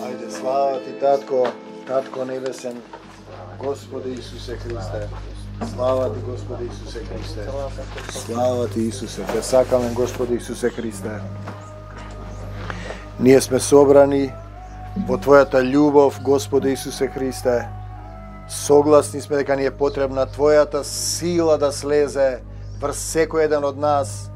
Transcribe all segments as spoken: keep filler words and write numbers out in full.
Ајде, слава ти, Татко, Татко небесен, Господи Исусе Христе. Слава ти, Господи Исусе Христе. Слава ти, Исусе. Те сакаме, Господи Исусе Христе. Ние сме собрани во Твојата љубов, Господи Исусе Христе. Согласни сме дека ни е потребна Твојата сила да слезе врз секој еден од нас.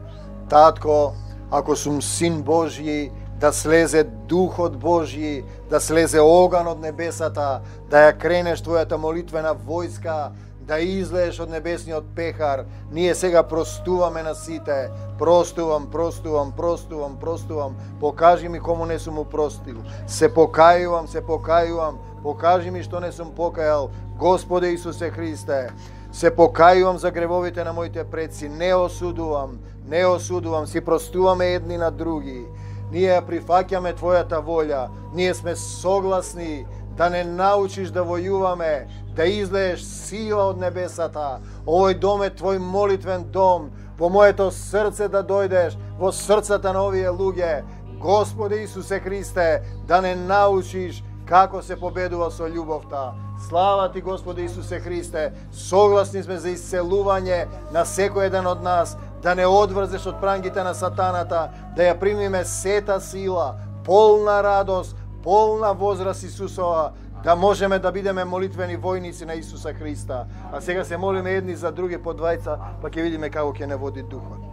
Татко, ако сум Син Божји, да слезе Духот Божји, да слезе оган од небесата, да ја кренеш Твојата молитвена војска, да излееш од небесниот пехар. Ние сега простуваме на сите. Простувам, простувам, простувам, простувам. Покажи ми кому не сум му простил. Се покајувам, се покајувам. Покажи ми што не сум покајал. Господе Исусе Христе, се покајувам за гревовите на моите предци. Не осудувам, не осудувам. Си простуваме едни на други. Ние ја прифаќаме Твојата волја. Ние сме согласни да не научиш да војуваме, да излееш сила од небесата. Овој дом е Твој молитвен дом. Во моето срце да дојдеш, во срцата на овие луѓе. Господи Исусе Христе, да не научиш како се победува со љубовта. Слава ти, Господи Исусе Христе. Согласни сме за исцелување на секој еден од нас, да не одврзеш од прангите на сатаната, да ја примиме сета сила, полна радост, полна возраст Исусова, да можеме да бидеме молитвени војници на Исуса Христа. А сега се молиме едни за други по двајца, па ќе видиме како ќе не води Духот.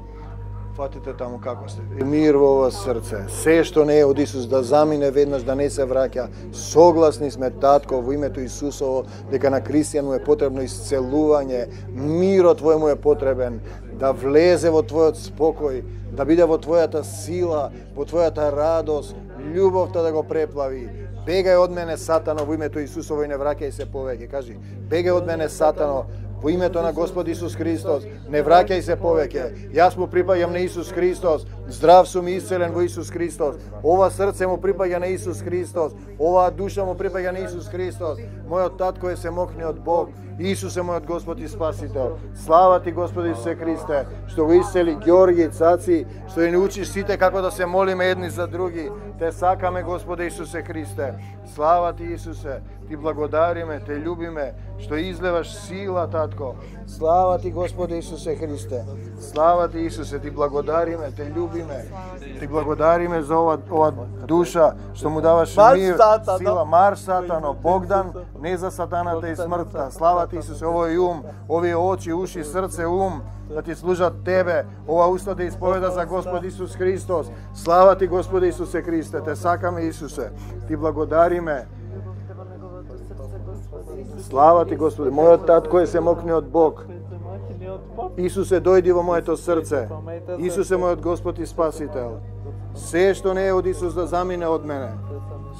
Фатите таму како сте. Мир во ова срце. Се што не е од Исус да замине веднаш, да не се враќа. Согласни сме, Татко, во името Исусово, дека на христијан му е потребно исцелување. Мирот Твој му е потребен, да влезе во Твојот спокој, да биде во Твојата сила, во Твојата радост, љубовта да го преплави. Бегај од мене, Сатано, во името Исусово и не враќај се повеќе. Кажи, бегај од мене, Сатано, во името на Господ Исус Христос, не враќај се повеќе. Јас му припаѓам на Исус Христос, здрав сум и исцелен во Исус Христос. Ова срце му припаѓа на Исус Христос, оваа душа му припаѓа на Исус Христос. Мојот татко е семокниот Бог, Исус е мојот Господ и Спасител. Слава ти, Господи Исусе Христе, што го исцели Ѓорги, Цаци, што ни учиш сите како да се молиме едни за други. Те сакаме, Господи Исусе Христе. Слава ти, Исусе, ти благодариме, те љубиме, што излеваш сила, Татко. Слава ти, Господи Исусе Христе. Слава ти, Исусе, ти благодариме, те љубиме. Ти благодариме за ова, ова душа, што му даваш мир, сила. Мар Сатано, Богдан, не за сатаната и смртта. Слава ти, Исусе, овој ум, овие очи, уши, срце, ум, да ти служат Тебе, ова уста да исповеда за Господ Исус Христос. Слава ти, Господи Исусе Христе, те сакаме, Исусе, ти благодариме. Слава ти, Господи, мојот татко е семокниот Бог. Исусе, дојди во моето срце. Исусе, мојот Господ и Спасител. Се што не е од Исус да замине од мене.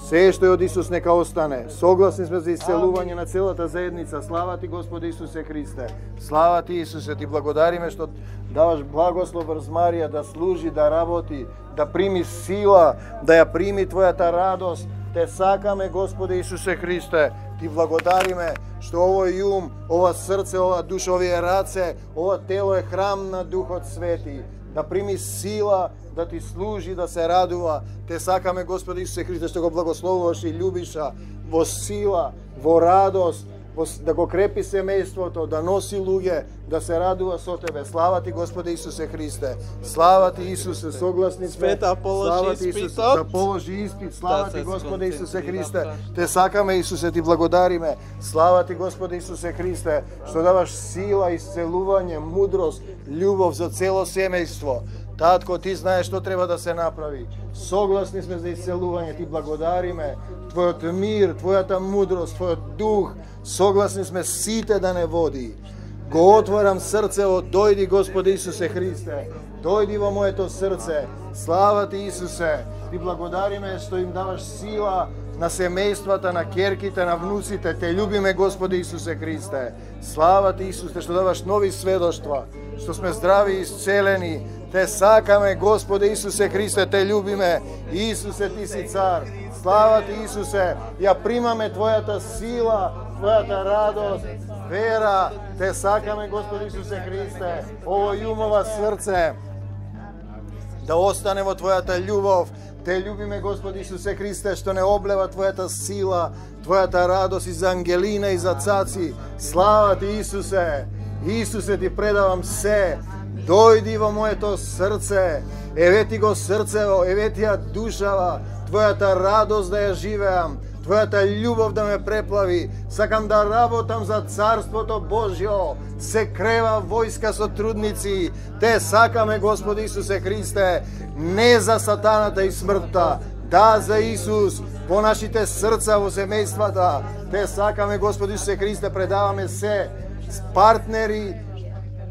Се што е од Исус нека остане. Согласни сме за исцелување на целата заедница. Слава ти, Господи Исусе Христе. Слава ти, Исусе, ти благодариме што даваш благослов врз Марија да служи, да работи, да прими сила, да ја прими Твојата радост. Те сакаме, Господи Исусе Христе. Ти благодариме што овој ум, ова срце, ова душа, овие раце, ова тело е храм на Духот Свети. Да прими сила, да ти служи, да се радува. Те сакаме, Господи Исусе Христе, што го благословуваш и љубиша во сила, во радост, во, да го крепи семејството, да носи луѓе, да се радува со Тебе. Слава ти, Господи Исусе Христе. Слава ти, Исусе, согласни сме. Слава ти, Исусе, да положи испит. Слава ти, Господи Исусе Христе. Те сакаме, Исусе, ти благодариме. Слава ти, Господи Исусе Христе, што даваш сила, исцелување, мудрост, љубов за цело семејство. Татко, ти знаеш што треба да се направи. Согласни сме за исцелување, ти благодариме. Твојот мир, Твојата мудрост, Твојот дух, согласни сме сите да не води. Го отворам срцево, дојди, Господи Исусе Христе. Дојди во моето срце. Слава ти, Исусе. Ти благодариме што им даваш сила на семејствата, на ќерките, на внуците. Те љубиме, Господи Исусе Христе. Слава ти, Исусе, што даваш нови сведоштва, што сме здрави и исцелени. Те сакаме, Господи Исусе Христе, те љубиме. Исусе, ти си цар. Слава ти, Исусе. Ја примаме Твојата сила, Твојата радост, вера. Те сакаме, Господи Исусе Христе. Ово умова срце да остане во Твојата љубов, Те љубиме, Господи Исусе Христе, што не облева Твојата сила, Твојата радост и за Ангелина и за цаци. Слава Ти, Исусе! Исусе, Ти предавам се. Дојди во моето срце. Еве Ти го срцево, еве Ти ја душава. Твојата радост да ја живеам. Твојата љубов да ме преплави. Сакам да работам за Царството Божјо. Се крева војска со трудници. Те сакаме, Господи Исусе Христе, не за сатаната и смртта, да за Исус, по нашите срца во семејствата. Те сакаме, Господи Исусе Христе, предаваме се, партнери,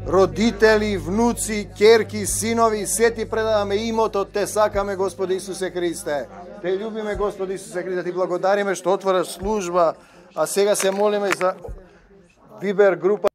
родители, внуци, ќерки, синови, се Ти предаваме имото, Те сакаме, Господи Исусе Христе. Те љубиме, Господи Исусе Христе, Ти благодариме што отвораш служба, а сега се молиме за Вибер група.